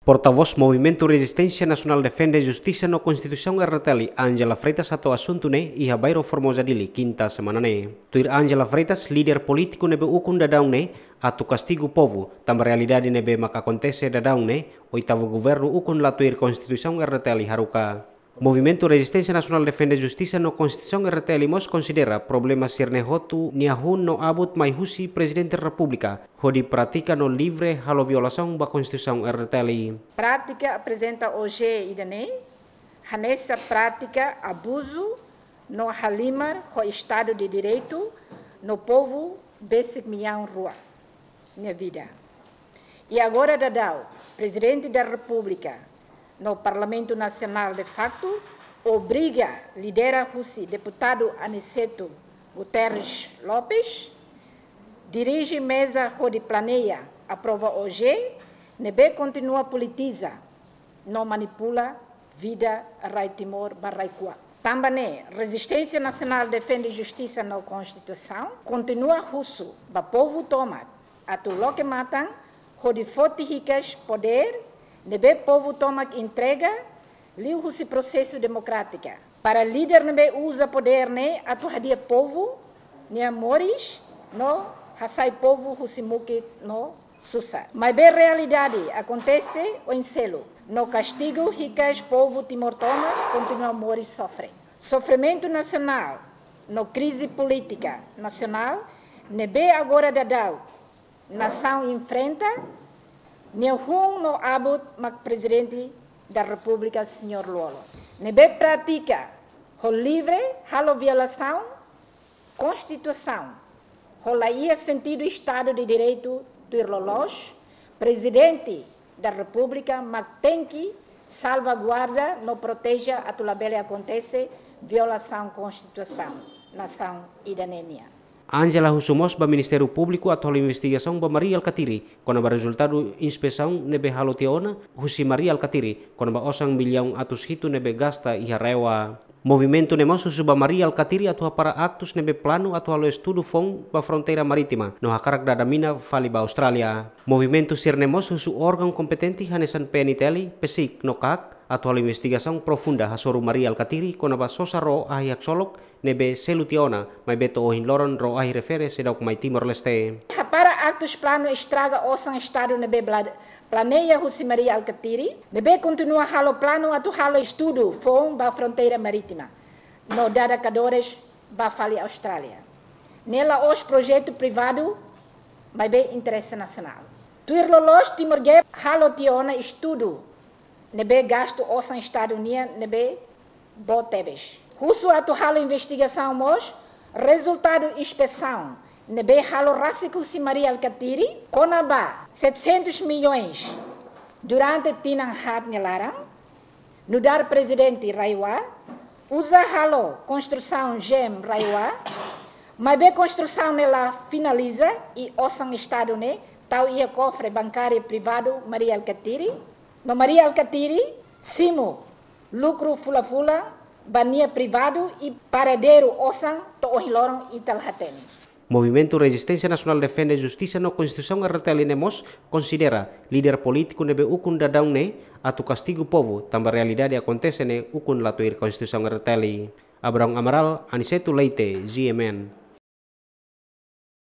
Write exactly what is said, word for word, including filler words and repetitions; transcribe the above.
Portavós Movimentu Rezisténsia Nasionál Defende Justisa no Konstituisaun R D T L, Angela Freitas hato'o asuntu ne'e iha Bairro Formosa, Dili, kinta semana ne'e. Tuir Angela Freitas, líder polítiku ne'ebé ukun daudaun ne'e atu kastigu povu, tanba realidade ne'ebé maka akontese daudaun ne'e, oitavu governu ukun la tuir Konstituisaun R D T L haruka. Movimentu Rezisténsia Nasionál Defende Justisa no Konstituisaun R D T L mós konsidera problema sira-ne'e hotu nia hun no abut mai husi Prezidente Repúblika, hodi pratika no livre halo violasaun ba Konstituisaun R D T L. Prátika aprezenta ohin ida-ne'e, hanesan prátika abuzu no halimar ho Estadu de Direitu no povu besik millaun rua nia vida. I agora daudaun, Prezidente da Repúblika no Parlamentu Nasionál de facto obriga lidera husi deputadu Aniceto Guterres Lopes dirije meza hodi planeia, aprova ohin, ne'ebé kontinua politiza no manipula vida rai Timor ba rai kuak. Tanba ne'e, Rezisténsia Nasionál Defende Justisa no Konstituisaun kontinua husu ba povu tomak atu loke matan hodi foti hikas podér ne'ebé povu tomak entrega liuhusi prosesu demokrátika. Para líder ne'ebé uza podér ne'e atu hadi'a povu nia moris no hasai povu husi mukit no susar. Maibé realidade akontese oin seluk, no kastigu hikas povu Timor tomak kontinua moris sofre. Sofrimentu nasionál no krize polítika nasionál ne'ebé agora daudaun nasaun enfrenta, nia hun no abut mak Prezidente da Repúblika, Señór Lú-Olo, ne'ebé pratika ho livre halo violasaun Konstituisaun, ho la iha sentidu Estadu de Direitu tuir loloos, Prezidente da Repúblika mak tenke salvaguarda no proteje atu labele akontese violasaun Konstituisaun nasaun ida-ne'e nian. Angela husu mós ba Ministériu Públiku atu halo investigasaun ba Mari Alkatiri kona-ba rezultadu inspesaun ne'ebé halo tiha ona husi Mari Alkatiri kona-ba osan millaun atus hitu ne'ebé gasta iha RAEOA. Movimentu ne'e mós husu ba Mari Alkatiri atu hapara aktus ne'ebé planu atu halo estudu foun ba fronteira marítima no hakarak dada mina fali ba Austrália. Movimentu sira-ne'e mós husu órgaun kompetente hanesan P N T L, PCIC no KAK atu halo investigasaun profunda hasoru Mari Alkatiri kona-ba sosa ró ahi haksolok ne'ebé selu tiha ona, maibé to'o ohin loron ró ahi refere seidauk mai Timor-Leste. Hapara aktus planu estraga osan Estadu ne'ebé bla-, planeia husi Mari Alkatiri, ne'ebé kontinua halo planu atu halo estudu foun ba fronteira marítima no dada kadores ba fali Austrália. Ne'e la'ós projetu privadu, maibé interese nasionál. Tuir loloos Timor Gap halo tiha ona estudu ne'ebé gastu osan Estadu nian ne'ebé boot tebes. Husu atu halo investigasaun mós rezultadu inspesaun ne'ebé halo rasik husi Mari Alkatiri kona-ba setecentos milhões durante tinan haat nia laran, nu'udar Prezidente RAEOA, uza halo konstrusaun GEM RAEOA, maibé konstrusaun ne'e la finaliza i osan Estadu ne'e tau iha kofre bankáriu privadu Mari Alkatiri, no Mari Alkatiri simu lukru fula-fula ba nia privadu i paradeiru osan to'o ohin loron ita la hatene. Movimentu Rezisténsia Nasionál Defende Justisa no Konstituisaun R D T L ne'e mós konsidera líder polítiku ne'ebé ukun daudaun ne'e atu kastigu povu, tanba realidade akontese ne'e ukun la tuir Konstituisaun R D T L. Abrão Amaral, Aniceto Leite, G M N.